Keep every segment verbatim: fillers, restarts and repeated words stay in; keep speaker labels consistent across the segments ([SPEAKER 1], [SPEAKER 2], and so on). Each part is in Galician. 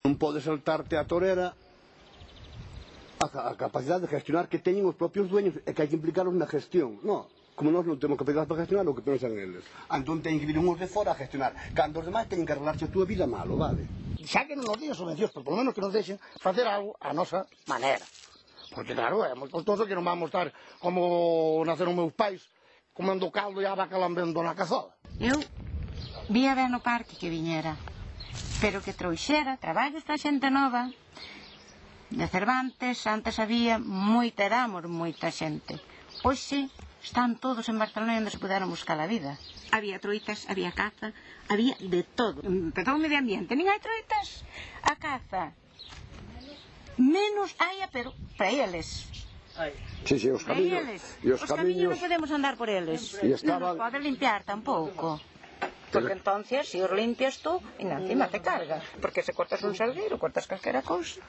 [SPEAKER 1] Non pode saltarte a torera a, a capacidade de gestionar que teñen os propios dueños e que hai que implicarlos na gestión. Non, como nós non temos capacidade para gestionar o que pensan eles. Entón teñen que vir uns de fora a gestionar, cando os demais teñen que arreglarse a túa vida malo, vale?
[SPEAKER 2] Xa que non nos días subvencións, pero polo menos que nos deixen facer algo a nosa maneira. Porque claro, é moi costoso que non vamos estar como naceron meus pais, comendo caldo e a vaca lambendo na cazola.
[SPEAKER 3] Eu vía ben no parque que viñera, pero que trouxera traballos para xente nova. De Cervantes, antes había moita, éramos moita xente. Hoxe están todos en Barcelona onde se puderon buscar a vida. Había troitas, había caza, había de todo. Empezou o medio ambiente, nin hai troitas, a caza. Menos haia, pero para eles.
[SPEAKER 1] Sí, sí, os camiños.
[SPEAKER 3] E os, os camiños non podemos andar por eles.
[SPEAKER 1] Estaban...
[SPEAKER 3] Non nos pode limpiar tampouco. Porque entonces, se os limpias tú, e encima te carga. Porque se cortas un salgueiro, cortas calquera cousa.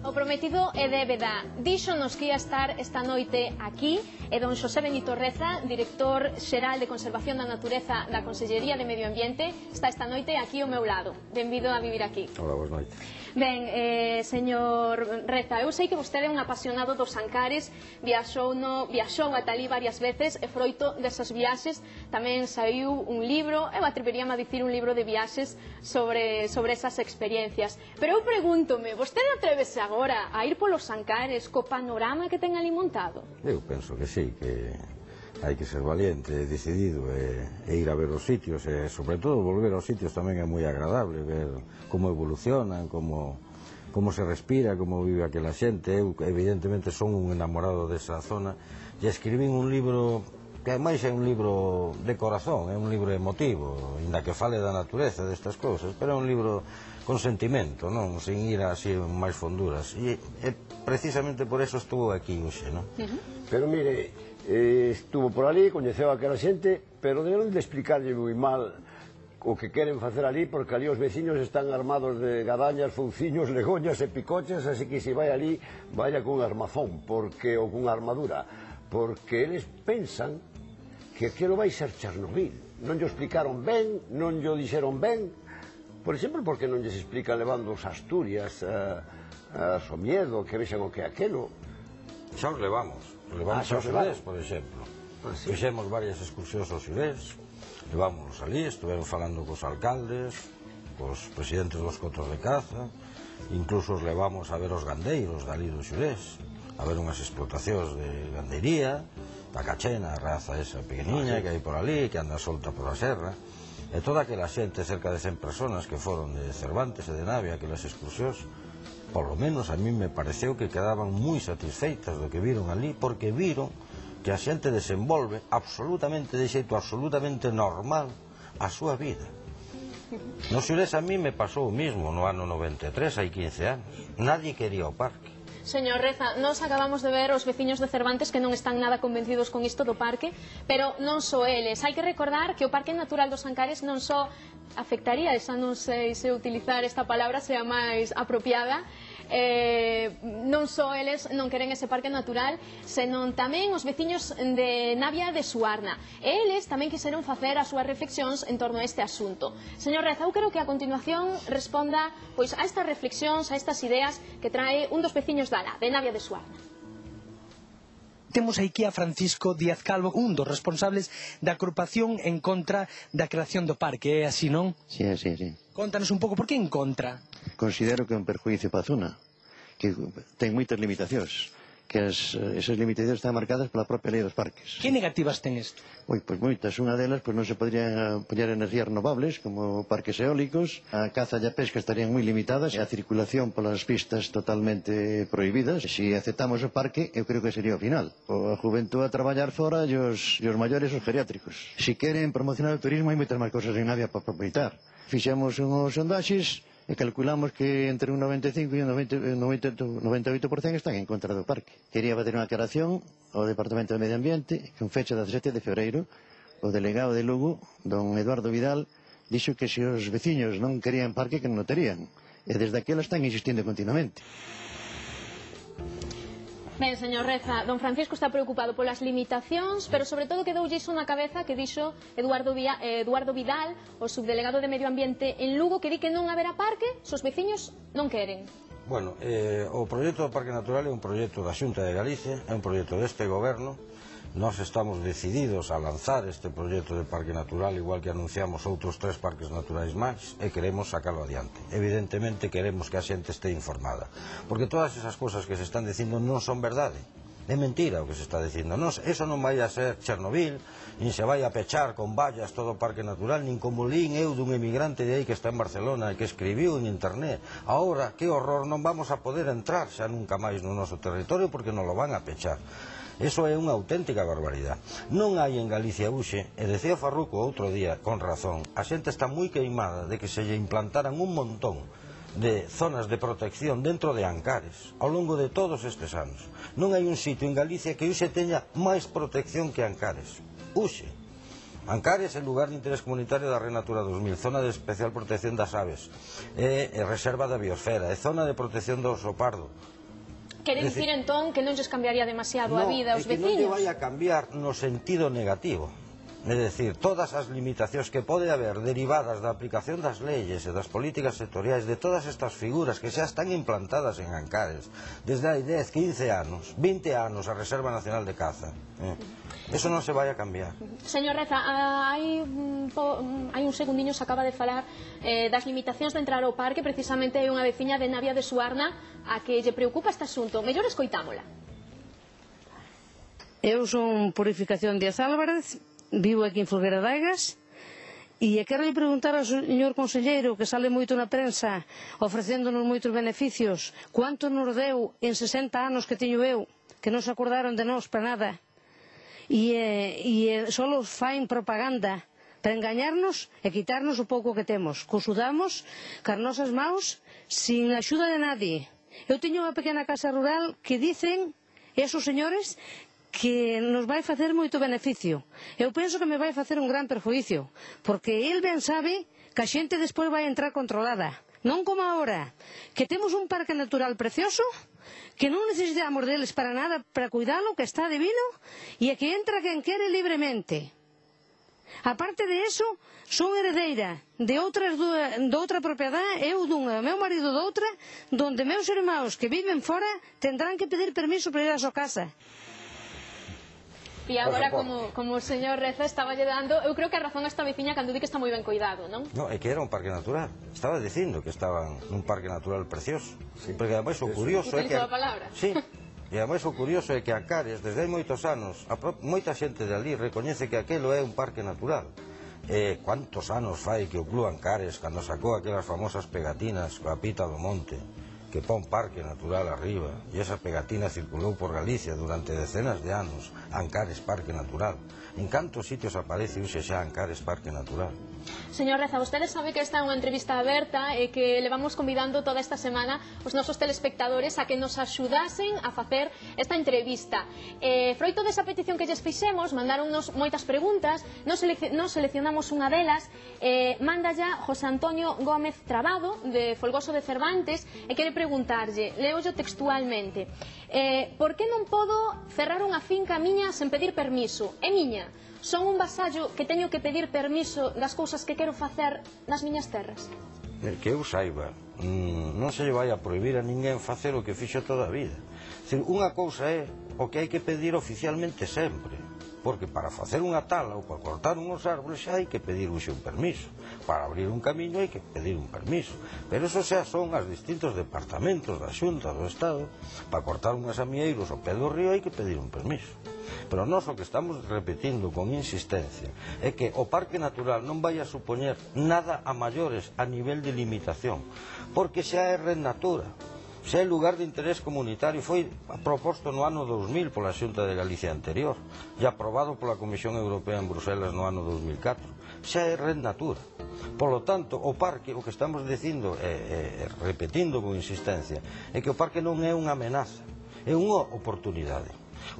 [SPEAKER 4] O prometido é débeda. Díxonos que ia estar esta noite aquí e don Xosé Benito Reza, director xeral de Conservación da Natureza da Consellería de Medio Ambiente, está esta noite aquí ao meu lado. Benvido a vivir aquí.
[SPEAKER 5] Hola, boas noites.
[SPEAKER 4] Ben, eh, señor Reza, eu sei que vostede é un apasionado dos Ancares, viaxou, no, viaxou ata ali varias veces e froito desas viaxes tamén saiu un libro, eu atreveríame a dicir un libro de viaxes sobre, sobre esas experiencias. Pero eu pregúntome, vostede atrevese agora a ir polos Ancares co panorama que ten ali montado?
[SPEAKER 5] Eu penso que sí, que hai que ser valiente, decidido e, e ir a ver os sitios e sobre todo volver aos sitios tamén é moi agradable ver como evolucionan, como, como se respira, como vive aquela xente. Eu evidentemente son un enamorado desa zona e escribín un libro que ademais é un libro de corazón, é un libro emotivo, inda que fale da natureza destas cousas, pero é un libro con sentimento, non? Sin ir así máis fonduras e, e precisamente por eso estuvo aquí hoxe, non?
[SPEAKER 6] Uh-huh. Pero mire, eh, estuvo por ali, coñeceu aquela xente, pero deberon de explicarlle moi mal o que queren facer ali, porque ali os veciños están armados de gadañas, fouciños, legoñas e picoches, así que se vai ali, vaya cun armazón, porque ou cunha armadura, porque eles pensan que aquilo vai ser Chernobyl. Non llo explicaron ben, non llo dixeron ben, por exemplo, porque non lles explican levando os Asturias a, a Somiedo, que vexan o que é aquilo.
[SPEAKER 5] Xa os levamos, levamos
[SPEAKER 6] ah,
[SPEAKER 5] aos Xurés, por exemplo. Ah, sí. Fixemos varias excursións aos Xurés, levámonos ali, estuveron falando cos alcaldes, cos presidentes dos cotos de caza, incluso os levamos a ver os gandeiros dali dos Xurés, a ver unhas explotacións de gandeiría, da cachena, a raza esa pequeniña que hai por ali, que anda solta por a serra, e toda aquela xente, cerca de cen personas que foron de Cervantes e de Navia, aquelas excursións, por lo menos a mí me pareceu que quedaban moi satisfeitas do que viron ali, porque viron que a xente desenvolve absolutamente, de xeito absolutamente normal, a súa vida. Nos Xurés a mí me pasou o mismo no ano noventa e tres, hai quince anos. Nadie quería o parque.
[SPEAKER 4] Señor Reza, nos acabamos de ver os veciños de Cervantes que non están nada convencidos con isto do parque, pero non só eles. Hai que recordar que o Parque Natural dos Ancares non só afectaría, esa non sei se utilizar esta palabra sea máis apropiada, eh, non só eles non queren ese parque natural, senón tamén os veciños de Navia de Suarna. E eles tamén quixeron facer as súas reflexións en torno a este asunto. Señor Reza, eu creo que a continuación responda pois a estas reflexións, a estas ideas que trae un dos veciños da de Navia de Suarna.
[SPEAKER 7] Temos aquí a Francisco Díaz Calvo, un dos responsables da agrupación en contra da creación do parque, é así, non?
[SPEAKER 8] Si, sí, sí, sí.
[SPEAKER 7] Contanos un pouco, por que en contra?
[SPEAKER 8] Considero que é un perjuízo para a zona, que ten moitas limitacións, que as, esas limitacións están marcadas pola propia lei dos parques.
[SPEAKER 7] Que negativas ten isto?
[SPEAKER 8] Ui, pois moitas, unha delas, pois non se podría poñer energías renovables, como parques eólicos, a caza e a pesca estarían moi limitadas, e a circulación polas pistas totalmente prohibidas. Se aceptamos o parque, eu creo que sería o final. O a juventud a traballar fora e os, e os maiores os geriátricos. Se queren promocionar o turismo, hai moitas máis cosas en Navia para aproveitar. Fixemos unhos sondaxes e calculamos que entre un noventa e cinco e un noventa, noventa, noventa e oito por cento están en contra do parque. Quería fazer unha aclaración ao Departamento de Medio Ambiente, con fecha dezasete de febreiro, o delegado de Lugo, don Eduardo Vidal, dixo que se os veciños non querían parque, que non o terían. E desde aquela están insistindo continuamente.
[SPEAKER 4] Ben, señor Reza, don Francisco está preocupado polas limitacións, pero sobre todo quedoulle iso na cabeza que dixo Eduardo, Via, eh, Eduardo Vidal, o subdelegado de Medio Ambiente en Lugo, que di que non haberá parque se os veciños non queren.
[SPEAKER 5] Bueno, eh, o proxecto do Parque Natural é un proxecto da Xunta de Galicia, é un proxecto deste goberno. Nós estamos decididos a lanzar este proxecto de Parque Natural, igual que anunciamos outros tres parques naturais máis, e queremos sacalo adiante. Evidentemente queremos que a xente este informada, porque todas esas cousas que se están dicindo non son verdade. É mentira o que se está dicindo. Non, eso non vai a ser Chernobyl, nin se vai a pechar con vallas todo o Parque Natural, nin como lín eu dun emigrante de aí que está en Barcelona e que escribiu en internet. Ahora, que horror, non vamos a poder entrar xa nunca máis no noso territorio porque non lo van a pechar. Eso é unha auténtica barbaridade. Non hai en Galicia hoxe, e decía Farruco outro día, con razón, a xente está moi queimada de que se lle implantaran un montón de zonas de protección dentro de Ancares ao longo de todos estes anos. Non hai un sitio en Galicia que hoxe teña máis protección que Ancares. Hoxe. Ancares é lugar de interés comunitario da Red Natura dos mil, zona de especial protección das aves, é, é reserva da biosfera, é zona de protección do oso pardo.
[SPEAKER 4] Quere dicir entón que non lles cambiaría demasiado a vida aos veciños?
[SPEAKER 5] Non, é que non lle vai a cambiar no sentido negativo. É dicir, todas as limitacións que pode haber derivadas da aplicación das leyes e das políticas sectoriais de todas estas figuras que xa están implantadas en Ancares desde hai dez, quince anos, vinte anos a Reserva Nacional de Caza, eh? Eso non se vai a cambiar.
[SPEAKER 4] Señor Reza, hai, hai un segundiño se acaba de falar eh, das limitacións de entrar ao parque. Precisamente hai unha veciña de Navia de Suarna a que lle preocupa este asunto. Mellor escoitámola.
[SPEAKER 9] Eu son Purificación Díaz Álvarez, vivo aquí en Folgueira de Aigas, e quero preguntar ao señor conselleiro, que sale moito na prensa ofrecéndonos moitos beneficios, cuánto nos deu en sesenta anos que teño eu, que non se acordaron de nós para nada, e, e só los fain propaganda para engañarnos e quitarnos o pouco que temos, que usudamos cas nosas maus sin axuda de nadie. Eu teño unha pequena casa rural que dicen esos señores que nos vai facer moito beneficio. Eu penso que me vai facer un gran perjuicio, porque el ben sabe que a xente despois vai entrar controlada. Non como agora, que temos un parque natural precioso, que non necesitamos deles para nada, para cuidalo, que está divino, e que entra quen quere libremente. Aparte de eso, son heredeira de outras de outra propiedade, eu dunha, meu marido de outra, donde meus irmãos que viven fora tendrán que pedir permiso para ir á súa casa.
[SPEAKER 4] E agora, como, como o señor Reza estaba lle dando, eu creo que a razón esta veciña cando di que está moi ben cuidado, non?
[SPEAKER 5] Non, é que era un parque natural. Estaba dicindo que estaban nun parque natural precioso. Sí. Porque ademais o curioso é que...
[SPEAKER 4] a palabra.
[SPEAKER 5] Sí, e ademais o curioso é que Ancares, desde hai moitos anos, a pro... moita xente de ali recoñece que aquelo é un parque natural. Eh, cuántos anos fai que o Club Ancares, cando sacou aquelas famosas pegatinas coa pita do monte, que pon parque natural arriba, e esa pegatina circulou por Galicia durante decenas de anos, Ancares Parque Natural. En cantos sitios aparece hoxe xa Ancares Parque Natural?
[SPEAKER 4] Señor Reza, vostede sabe que esta é unha entrevista aberta e que levamos convidando toda esta semana os nosos telespectadores a que nos axudasen a facer esta entrevista. Eh, froito desa petición que lles fixemos, mandaronnos moitas preguntas, nos, selec nos seleccionamos unha delas, eh, manda ya José Antonio Gómez Trabado, de Folgoso de Cervantes, e quere preguntarlle, leollo textualmente, eh, por que non podo cerrar unha finca miña sen pedir permiso? É miña. Son un vasallo que teño que pedir permiso das cousas que quero facer nas miñas terras?
[SPEAKER 5] Que eu saiba, non se lle vai a prohibir a ninguén facer o que fixo toda a vida. Unha cousa é o que hai que pedir oficialmente sempre, porque para facer unha tala ou para cortar unhos árboles xa hai que pedir un permiso, para abrir un camiño hai que pedir un permiso, pero eso xa son os distintos departamentos da Xunta do Estado. Para cortar unhas amieiros ao pé do río hai que pedir un permiso. Pero nós o que estamos repetindo con insistencia é que o Parque Natural non vai a supoñer nada a maiores a nivel de limitación, porque xa é Red Natura, xa é lugar de interés comunitario, foi proposto no ano dous mil pola Xunta de Galicia anterior e aprobado pola Comisión Europea en Bruselas no ano dous mil catro, xa é Red Natura. Polo tanto, o parque, o que estamos dicindo e repetindo con insistencia, é que o parque non é unha amenaza, é unha oportunidade.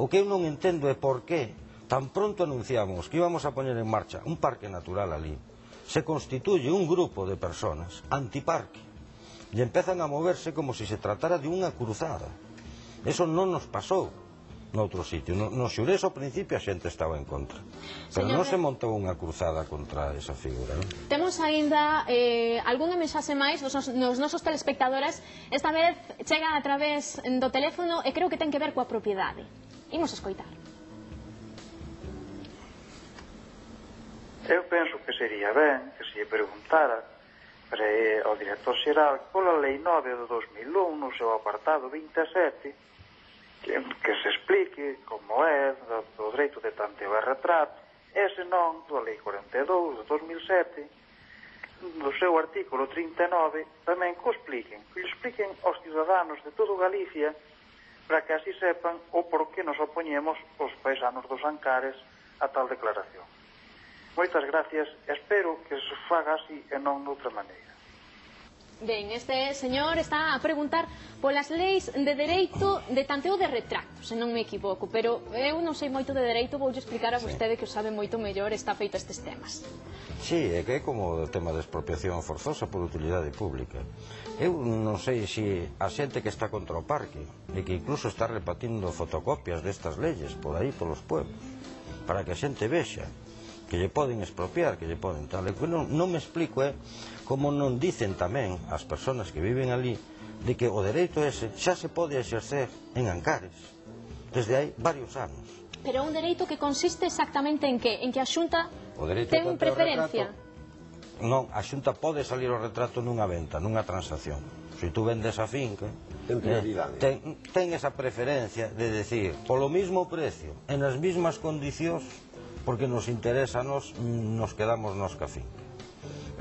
[SPEAKER 5] O que eu non entendo é por que tan pronto anunciamos que íbamos a poñer en marcha un parque natural ali, se constituye un grupo de personas antiparque e empezan a moverse como se se tratara de unha cruzada. Eso non nos pasou noutro sitio. No, no Xurés ao principio a xente estaba en contra, pero
[SPEAKER 4] Señor
[SPEAKER 5] non se montou unha cruzada contra esa figura, non?
[SPEAKER 4] Temos aínda eh, algunha mensaxe máis nos, nos nosos telespectadores. Esta vez chega a través do teléfono e creo que ten que ver coa propiedade. Imos escoitar.
[SPEAKER 10] Eu penso que sería ben que se lle preguntara para, eh, ao director xeral pola lei nove do dos mil un no seu apartado vinte e sete que, que se explique como é do, do dereito de tanteo e retrato, e se non do lei cuarenta e dous do dos mil sete do seu artículo trinta e nove tamén que o expliquen, que o expliquen aos ciudadanos de todo Galicia para que así sepan o por que nos opoñemos os paisanos dos Ancares a tal declaración. Moitas gracias, espero que se faga así e non noutra maneira.
[SPEAKER 4] Ben, este señor está a preguntar polas leis de dereito de tanteo de retrato, se non me equivoco, pero eu non sei moito de dereito, voulle explicar a vostede que o sabe moito mellor, está feito estes temas.
[SPEAKER 5] Sí, é que é como o tema de expropiación forzosa por utilidade pública. Eu non sei se a xente que está contra o parque e que incluso está repartindo fotocopias destas leyes por aí, polos pueblos, para que a xente vexa que lle poden expropiar, que lle poden tal. E que non, non me explico é como non dicen tamén as persoas que viven ali de que o dereito ese xa se pode exercer en Ancares desde hai varios anos.
[SPEAKER 4] Pero un dereito que consiste exactamente en que? En que a Xunta ten preferencia?
[SPEAKER 5] Non, a Xunta pode salir o retrato nunha venta, nunha transacción. Se tú vendes a finca,
[SPEAKER 6] ten prioridade.
[SPEAKER 5] Ten, ten esa preferencia de decir, polo mismo precio, en as mismas condicións, porque nos interesa a nos, nos quedamos nos ca finca.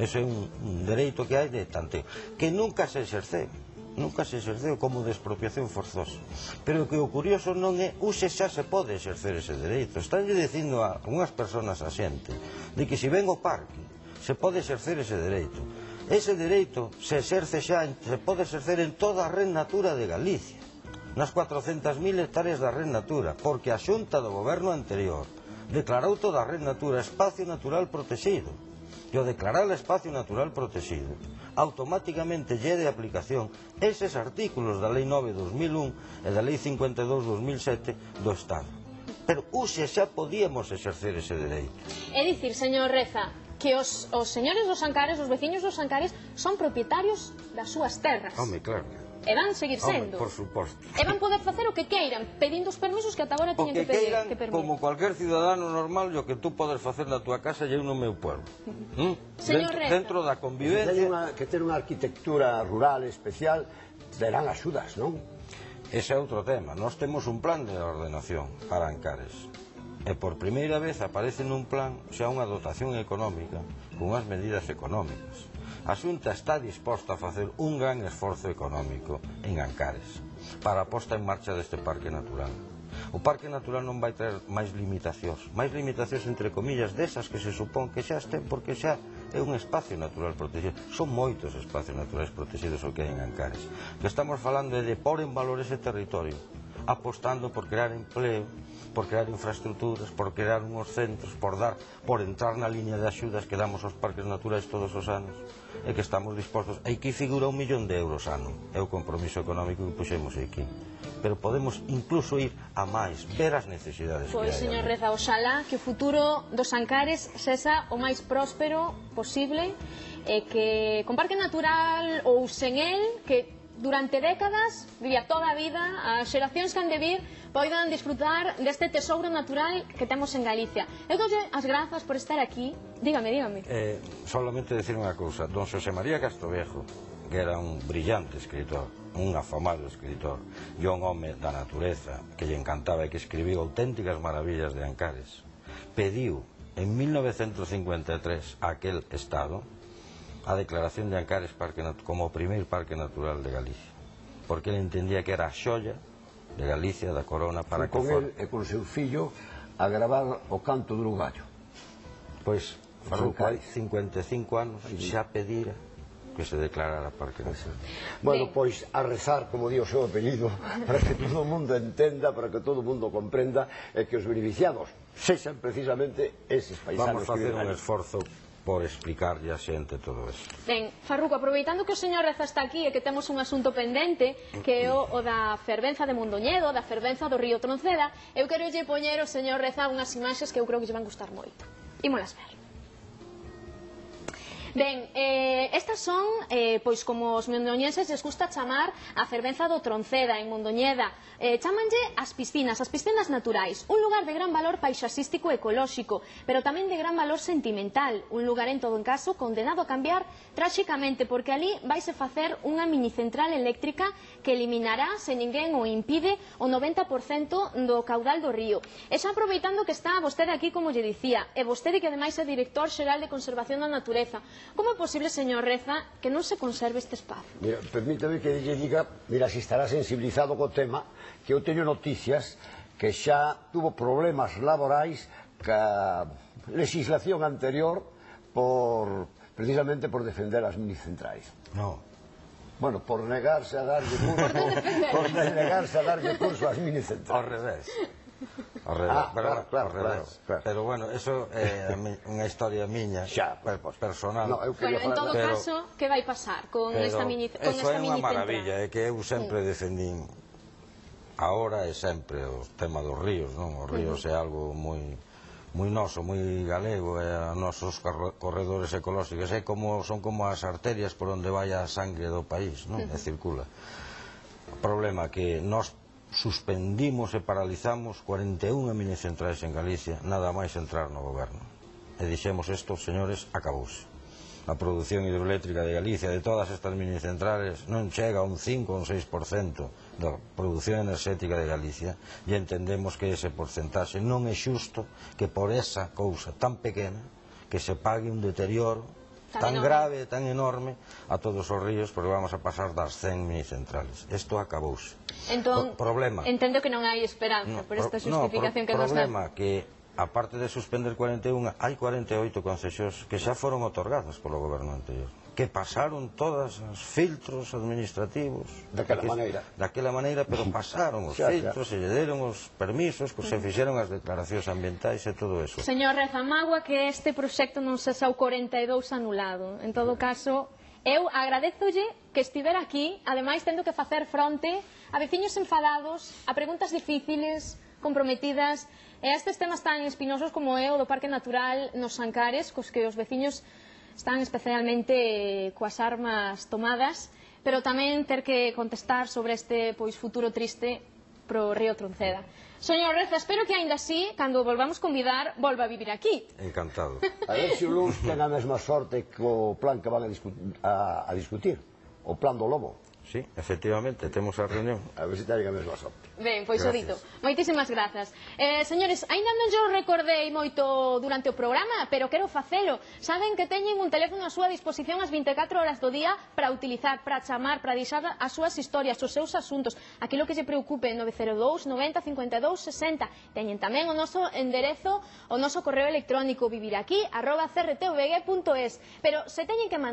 [SPEAKER 5] Ese é un, un dereito que hai de tanteo, que nunca se exerceu, nunca se exerceu como de expropiación forzosa. Pero que o curioso non é, use xa se pode exercer ese dereito. Estánlle dicindo a unhas persoas a xente de que se ven o parque, se pode exercer ese dereito. Ese dereito se exerce xa, se pode exercer en toda a red natura de Galicia, nas cuatrocentas mil hectáreas da red natura, porque a Xunta do goberno anterior declarou toda a red natura espacio natural protegido, e ao declarar o espacio natural protegido automáticamente lle de aplicación eses artículos da lei nove do dos mil un e da lei cincuenta e dous do dos mil sete do Estado. Pero use xa podíamos exercer ese dereito.
[SPEAKER 4] É dicir, señor Reza, que os, os señores dos Ancares, os veciños dos Ancares, son propietarios das súas terras.
[SPEAKER 5] Home, claro.
[SPEAKER 4] E van seguir sendo.
[SPEAKER 5] Home, por suposto.
[SPEAKER 4] E van poder facer o que queiran, pedindo os permisos que ata agora teñen que pedir.
[SPEAKER 5] O que queiran,
[SPEAKER 4] que
[SPEAKER 5] como cualquier ciudadano normal, o que tú podes facer na túa casa e eu no meu pueblo. ¿Mm?
[SPEAKER 4] Señor
[SPEAKER 5] dentro,
[SPEAKER 4] Reza.
[SPEAKER 5] dentro da convivencia.
[SPEAKER 6] Que ten unha, que ten unha arquitectura rural especial, terán axudas, non?
[SPEAKER 5] Ese é outro tema. Nós temos un plan de ordenación para Ancares. E por primeira vez aparece nun plan xa unha dotación económica con unhas medidas económicas. A Xunta está disposta a facer un gran esforzo económico en Ancares para a posta en marcha deste parque natural. O parque natural non vai traer máis limitacións, máis limitacións entre comillas desas que se supón que xa estén, porque xa é un espacio natural protegido. Son moitos espacios naturales protegidos o que hai en Ancares. Que estamos falando é de pôr en valor ese territorio, apostando por crear empleo, por crear infraestructuras, por crear unhos centros, por dar, por entrar na línea de axudas que damos aos parques naturais todos os anos, e que estamos dispostos. Aquí figura un millón de euros ano, é o compromiso económico que puxemos aquí. Pero podemos incluso ir a máis, ver as necesidades que hai.
[SPEAKER 4] Pois, señor Reza, oxalá que o futuro dos Ancares sexa o máis próspero posible, e que con parque natural ou sen el, que durante décadas, vivía toda a vida, as xeracións que han de vir poidan disfrutar deste tesouro natural que temos en Galicia. Eu doulle as grazas por estar aquí. Dígame, dígame.
[SPEAKER 5] Eh, solamente decir unha cousa. Don Xosé María Castroviejo, que era un brillante escritor, un afamado escritor, e un home da natureza que lle encantaba e que escribiu auténticas maravillas de Ancares, pediu en mil novecentos cincuenta e tres a aquel Estado a declaración de Ancares parque como o primeiro parque natural de Galicia, porque ele entendía que era a xoia de Galicia, da corona, para que
[SPEAKER 6] con
[SPEAKER 5] for...
[SPEAKER 6] el e con seu fillo a gravar o canto do Uruguayo.
[SPEAKER 5] Pois, falou que cincuenta e cinco anos xa pedira que se declarara parque nacional.
[SPEAKER 6] Bueno, pois a rezar, como di o seu apelido, para que todo o mundo entenda, para que todo o mundo comprenda, e que os beneficiados sexan precisamente eses paisanos.
[SPEAKER 5] Vamos a facer un esforzo por explicarlle a xente todo isto.
[SPEAKER 4] Ben, Farruco, aproveitando que o señor Reza está aquí e que temos un asunto pendente, que é o, o da fervenza de Mondoñedo, da fervenza do río Tronceda, eu quero lle poñer o señor Reza unhas imaxes que eu creo que lle van gustar moito. Ímolas ver. Ben, eh, estas son, eh, pois como os mondoñeses les gusta chamar a fervenza do Tronceda, en Mondoñeda. Eh, chamanlle as piscinas, as piscinas naturais. Un lugar de gran valor paisaxístico e ecolóxico, pero tamén de gran valor sentimental. Un lugar, en todo en caso, condenado a cambiar tráxicamente, porque ali vaise facer unha minicentral eléctrica que eliminará, se ninguén o impide, o noventa por cento do caudal do río. E xa aproveitando que está vostede aquí, como lle dicía, e vostede que ademais é director xeral de Conservación da Natureza, como é posible, señor Reza, que non se conserve este espazo?
[SPEAKER 6] Mira, permítame que lle diga, mira, si estará sensibilizado co tema, que eu teño noticias que xa tuvo problemas laborais ca legislación anterior por, precisamente por defender as minicentrais.
[SPEAKER 5] No.
[SPEAKER 6] Bueno, por negarse a darlle curso, por negarse a darlle curso ás minicentrais.
[SPEAKER 5] Ao revés. Ao revés,
[SPEAKER 6] Ah,
[SPEAKER 5] pero,
[SPEAKER 6] claro, claro,
[SPEAKER 5] ao revés.
[SPEAKER 6] claro, claro.
[SPEAKER 5] Pero bueno, eso é eh, unha historia miña,
[SPEAKER 6] xa,
[SPEAKER 5] per, personal.
[SPEAKER 6] No, eu
[SPEAKER 4] Bueno, en todo
[SPEAKER 5] pero,
[SPEAKER 4] caso, que vai pasar con
[SPEAKER 5] pero
[SPEAKER 4] esta mini con
[SPEAKER 5] eso
[SPEAKER 4] esta
[SPEAKER 5] é unha
[SPEAKER 4] mini
[SPEAKER 5] maravilla, é que eu sempre
[SPEAKER 4] Sí.
[SPEAKER 5] defendín agora e sempre o tema dos ríos, non? Os ríos é algo moi moi noso, moi galego, e a nosos corredores ecolóxicos é como, son como as arterias por onde vai a sangre do país, non? E circula. O problema é que nós suspendimos e paralizamos cuarenta e unha minicentrais en Galicia, nada máis entrar no goberno. E dixemos isto, señores, acabouse. A produción hidroeléctrica de Galicia, de todas estas minicentrales, non chega a un cinco ou un seis por cento da produción enerxética de Galicia, e entendemos que ese porcentaxe non é xusto que por esa cousa tan pequena que se pague un deterioro tan grave, tan enorme a todos os ríos, porque vamos a pasar das cen minicentrales. Isto acabouse.
[SPEAKER 4] Entón,
[SPEAKER 5] problema.
[SPEAKER 4] entendo que non hai esperanza
[SPEAKER 5] No,
[SPEAKER 4] por esta
[SPEAKER 5] pro,
[SPEAKER 4] justificación
[SPEAKER 5] no,
[SPEAKER 4] que nos dá.
[SPEAKER 5] problema que, aparte de suspender cuarenta e unha, hai cuarenta e oito concesións que xa foron otorgadas polo goberno anterior, que pasaron todas os filtros administrativos
[SPEAKER 6] daquela
[SPEAKER 5] que,
[SPEAKER 6] maneira
[SPEAKER 5] daquela maneira, pero pasaron os
[SPEAKER 6] xa,
[SPEAKER 5] filtros
[SPEAKER 6] xa.
[SPEAKER 5] e lle deron os permisos, que se fixeron as declaracións ambientais e todo eso.
[SPEAKER 4] Señor Reza, mágoa que este proxecto non se xa o cuarenta e dous anulado. En todo caso, eu agradezolle que estivera aquí, ademais tendo que facer fronte a veciños enfadados, a preguntas difíciles, comprometidas, e a estes temas tan espinosos como é o do Parque Natural nos Ancares, cos que os veciños están especialmente coas armas tomadas, pero tamén ter que contestar sobre este pois futuro triste pro río Tronceda. Señor Reza, espero que aínda así, cando volvamos convidar, volva a vivir aquí.
[SPEAKER 5] Encantado.
[SPEAKER 6] A ver se o luns ten a mesma sorte que o plan que van a, discu a, a discutir, o plan do lobo.
[SPEAKER 5] Sí, efectivamente, temos a reunión.
[SPEAKER 6] A ver se ten a mesma sorte.
[SPEAKER 4] Ben, pois o dito. Moitísimas grazas. Eh, señores, aínda non yo recordei moito durante o programa, pero quero facelo. Saben que teñen un teléfono a súa disposición as vinte e catro horas do día para utilizar, para chamar, para deixar as súas historias, os seus asuntos, aquilo que lle preocupe, nove cero dous, noventa, cincuenta e dous, sesenta. Teñen tamén o noso enderezo, o noso correo electrónico, viviraqui arroba c r t v g punto es. Pero se teñen que mandar